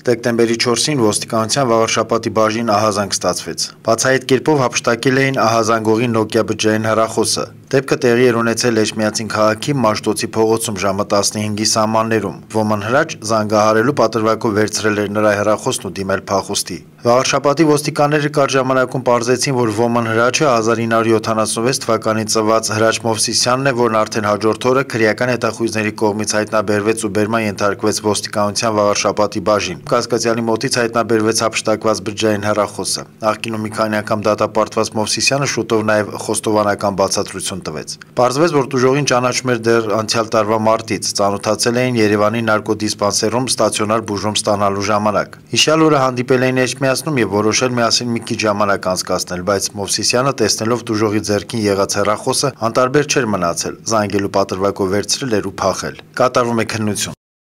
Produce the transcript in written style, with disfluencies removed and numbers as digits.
Դեկտեմբերի 4-ին ոստիկանության վաղարշապատի բաժին ահազանգ ստացվեց։ Բացի այդ կերպով հափշտակել էին ահազանգողի Nokia բջջային հեռախոսը։ Դեպքը տեղի էր ունեցել Էջմիածին քաղաքի Մաշտոցի փողոցում ժամը 15-ի սահմաններում։ Ոման հրաչ զանգահարելու պատրվակով վերցրել էր նրա հեռախոսն ու դիմել փախուստի։ Վաղարշապատի ոստիկանները կարճ ժամանակում պարզեցին, որ ոման հրաչը 1976 թվականին ծնված Հրաչ Մովսիսյանն է, որն արդեն հաջորդ օրը քրեական հետախույզների կողմից հայտնաբերվեց ու բերման ենթարկվեց ոստիկանության Վաղարշապատի բաժին։ Կասկածյալի մոտից հայտնաբերվեց հափշտակված բջջային հեռախոսը։ Նախկինում մի քանի անգամ դատապարտված Մովսիսյանը շուտով նաև խոստովանական բացատրություն տվեց։ Պարզվեց, որ տուժողին ճանաչում էր դեռ անցյալ տարվա մարտից, ծանոթացել էին Երևանի նարկոդիսպանսերում ստացիոնար բուժում ստանալու ժամանակ։ Հիշյալ օրը հանդիպել էին Էջմիածնում եւ որոշել միասին մի քիչ ժամանակ անցկացնել, բայց Մովսիսյանը տեսնելով տուժողի ձեռքին եղած հեռախոսը անտարբեր չէր մնացել, զանգելու պատրվակով վերցրել էր ու փախել։ Կատարվում է քննություն։